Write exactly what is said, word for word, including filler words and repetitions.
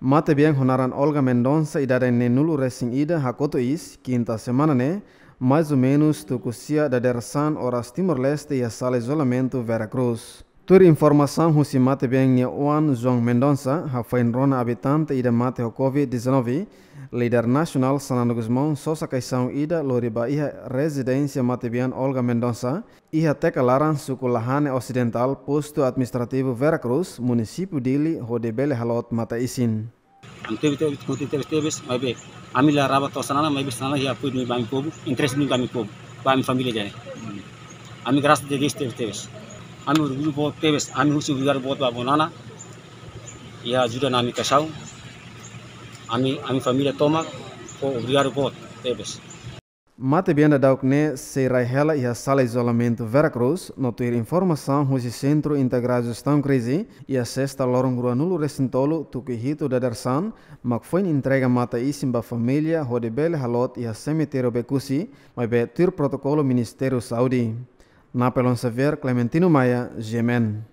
Matebian ho naran Olga Mendonça, idade neenulu resin ida, hakotu iis, kinta semana ne'e, mais ou menus tuku sia dadeer-saan oras Timor-Leste iha sala izolamentu Vera Cruz. Tuir informasaun husi matebian nia oan João Mendonça, hafoin rona abitante ida mate ho covid dezanove, líder nasionál Xanana Gusmão sosa kaixaun ida lori ba iha rezidénsia matebian Olga Mendonça, iha Teka Laran, suku Lahane Osidentál, postu administrativu Vera Cruz, munisípiu Dili, hodi bele haloot matan-isin. Ami tebes, tebes, kontente tebes, tebes, maibé ami la raba to'o Xanana, maibé Xanana iha apoiu duni ba ami povu, interese duni ba ami povu, ba ami família ida-ne'e. Ami grasas a Deus tebes, tebes. Ami orgullu boot tebes, ami husu obrigadu boot ba Nana, iha ajuda ona ami kaixaun, ami, ami família tomak, fó obrigadu boot tebes. Matebian daudauk ne'e sei rai hela iha sala izolamentu Vera Cruz, no tuir informasaun husi Sentru Integradu Jestaun Krize, iha sesta loron ruanulu resin tolu tuku hitu dadeer-saan, mak foin entrega matan-isin ba família hodi bele haloot iha semitériu Becusi, maibé tuir protokolu Ministériu Saúde. Napoleon Xavier, Clementino Maia, G M N.